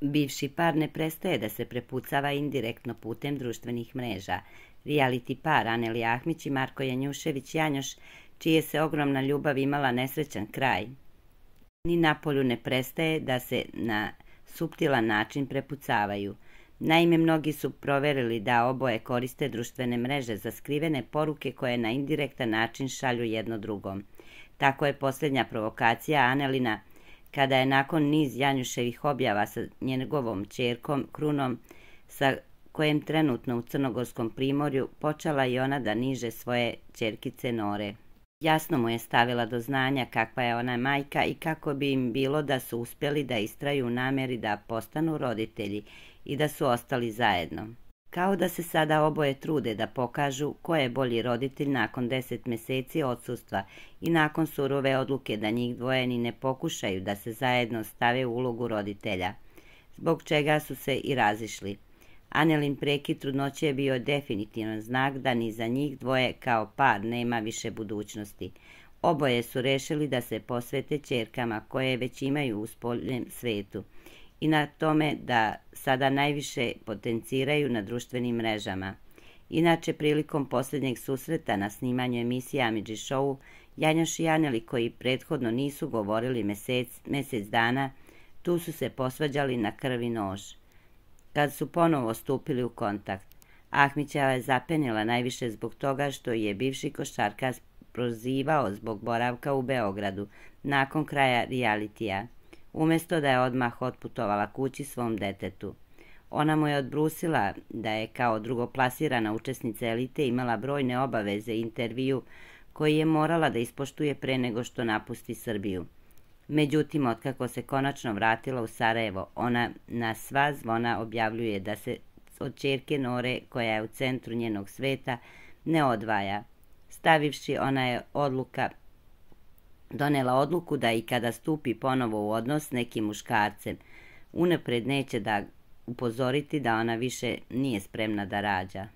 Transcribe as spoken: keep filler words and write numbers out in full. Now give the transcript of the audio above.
Bivši par ne prestaje da se prepucava indirektno putem društvenih mreža. Reality par Aneli Ahmić i Marko Janjušević-Janjoš, čije se ogromna ljubav imala nesrećan kraj, ni napolju ne prestaje da se na suptilan način prepucavaju. Naime, mnogi su proverili da oboje koriste društvene mreže za skrivene poruke koje na indirektan način šalju jedno drugom. Tako je posljednja provokacija Anelina, kada je nakon niz Janjuševih objava sa njegovom ćerkom Krunom, sa kojem trenutno u Crnogorskom primorju, počela i ona da niže svoje ćerkice Nore. Jasno mu je stavila do znanja kakva je ona majka i kako bi im bilo da su uspjeli da istraju u namjeri da postanu roditelji i da su ostali zajedno. Kao da se sada oboje trude da pokažu ko je bolji roditelj nakon deset mjeseci odsustva i nakon surove odluke da njih dvoje ni ne pokušaju da se zajedno stave u ulogu roditelja, zbog čega su se i razišli. Anelin prekid trudnoće je bio definitivan znak da ni za njih dvoje kao par nema više budućnosti. Oboje su rešili da se posvete ćerkama koje već imaju u spoljnom svetu i na tome da sada najviše potenciraju na društvenim mrežama. Inače, prilikom posljednjeg susreta na snimanju emisije Amidži Show, Janjoš i Aneli, koji prethodno nisu govorili mjesec, mjesec dana, tu su se posvađali na krv i nož. Kad su ponovo stupili u kontakt, Ahmićeva je zapenila najviše zbog toga što je bivši košarkaš prozivao zbog boravka u Beogradu nakon kraja realitija, umjesto da je odmah otputovala kući svom detetu. Ona mu je odbrusila da je kao drugoplasirana učesnica elite imala brojne obaveze i intervju koji je morala da ispoštuje pre nego što napusti Srbiju. Međutim, otkako se konačno vratila u Sarajevo, ona na sva zvona objavljuje da se od ćerke Nore, koja je u centru njenog sveta, ne odvaja. Stavivši, ona je odluka, donela odluku da i kada stupi ponovo u odnos s nekim muškarcem, unapred neće da upozoriti da ona više nije spremna da rađa.